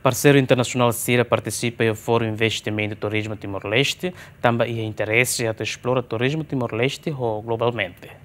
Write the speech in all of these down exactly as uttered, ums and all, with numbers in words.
Parseiru internasionál sira partisipa iha Fórum Investimentu Turizmu Timor-Leste, tanba iha interese atu esplora turizmu Timor-Leste ho globalmente.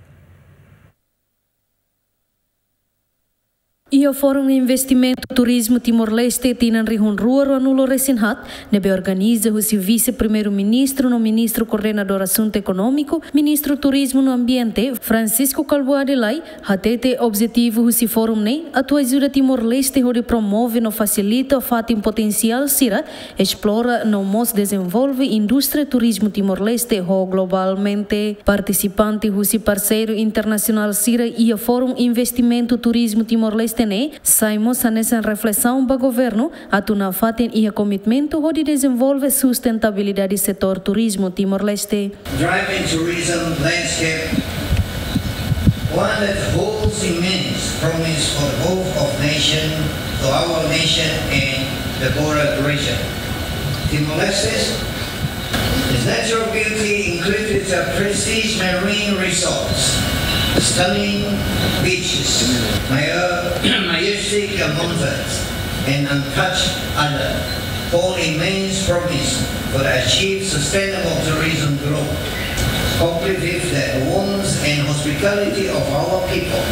Iha Fórum Investimentu Turizmu Timor-Leste tinan rihun rua ruanulu resin haat, ne'ebé organiza husi Vise-Primeiru-Ministru no Ministru Koordenadór Asuntu Ekonómiku, Ministru Turizmu no Ambiente, Francisco Kalbuadi Lay, hatete objetivu husi fórum ne'e atu ajuda Timor-Leste hodi promove no fasilita fatin potensiál sira esplora no mós dezenvolve indústria turizmu Timor-Leste ho globalmente. Partisipante husi parseiru internasionál sira iha Fórum Investimentu Turizmu Timor-Leste ne'e sai mós hanesan reflesaun ba governu atu nafatin iha komitmentu hodi dezenvolve sustentabilidade setór turizmu Timor-Leste. Driving tourism landscape, one that holds immense promise for the growth of nation, to our nation and the broader region. Timor-Leste's natural beauty includes its prestige marine resorts, stunning beaches, majestic mountains, and untouched island, hold immense promise for the achieve sustainable tourism growth. Complete with the warmth and hospitality of our people,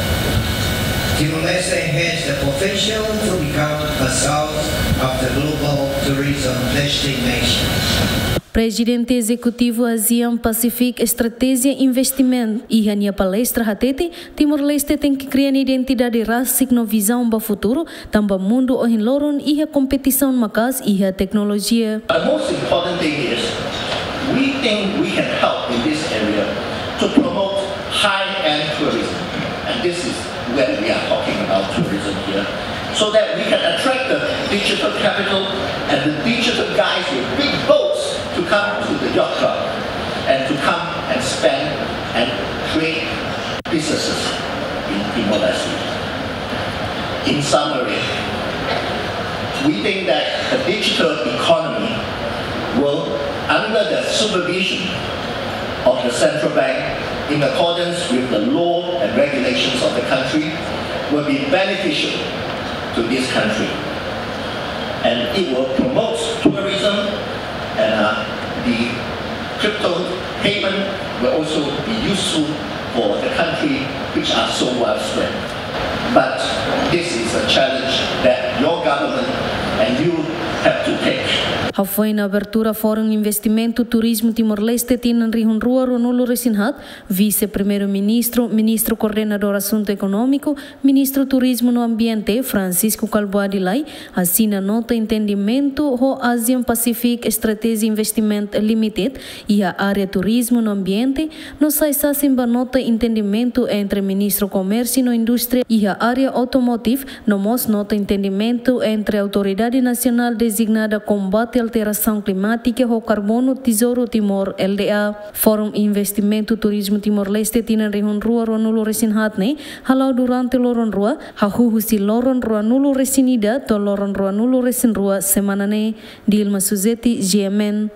Timor-Leste has the potential to become a south of the global tourism destination. Prezidente Ezekutivu ASEAN Pacific Strategic Investment iha nia palestra hatete, Timor-Leste tenke kria nia identidade rasik no vizaun ba futuru, tanba mundu ohin loron iha kompetisaun maka'as iha teknolojia. The most important thing is, we think we can help in this area to promote high-end tourism. And this is when we are talking about tourism here, so that we can attract the digital capital and the digital guys with big boats to come to the yacht club and to come and spend and create businesses in Timor-Leste. In summary, we think that the digital economy will, under the supervision of the central bank, in accordance with the law and regulations of the country, will be beneficial to this country. And it will promote tourism, and, uh, the crypto payment will also be useful for the country, which are so widespread. But this is a challenge that your government and you have to take. Hafoin abertura Fórum Investimentu Turizmu Timor-Leste tinan rihun rua ruanulu resin haat, Vise-Primeiru-Ministru, Ministru Koordenadór Asuntu Ekonómiku, Ministru Turizmu no Ambiente, Francisco Kalbuadi Lay, asina nota entendimentu ho ASEAN Pacific Strategic Investment Limited iha área turizmu no ambiente, no sai sasin ba nota entendimentu entre Ministru Komérsiu no Indústria iha área automotive, no mós nota entendimentu entre Autoridade Nasionál Dezignada Kombate Alterasaun Klimátika ho Karbonu, Tesouru Timor, L D A. Fórum Investimentu Turizmu Timor-Leste tinan rihun rua ruanulu resin haat ne'e hala'o durante loron rua, hahú husi loron ruanulu resin ida to'o loron ruanulu resin rua semana ne'e. Dilma Suzeti, G M N.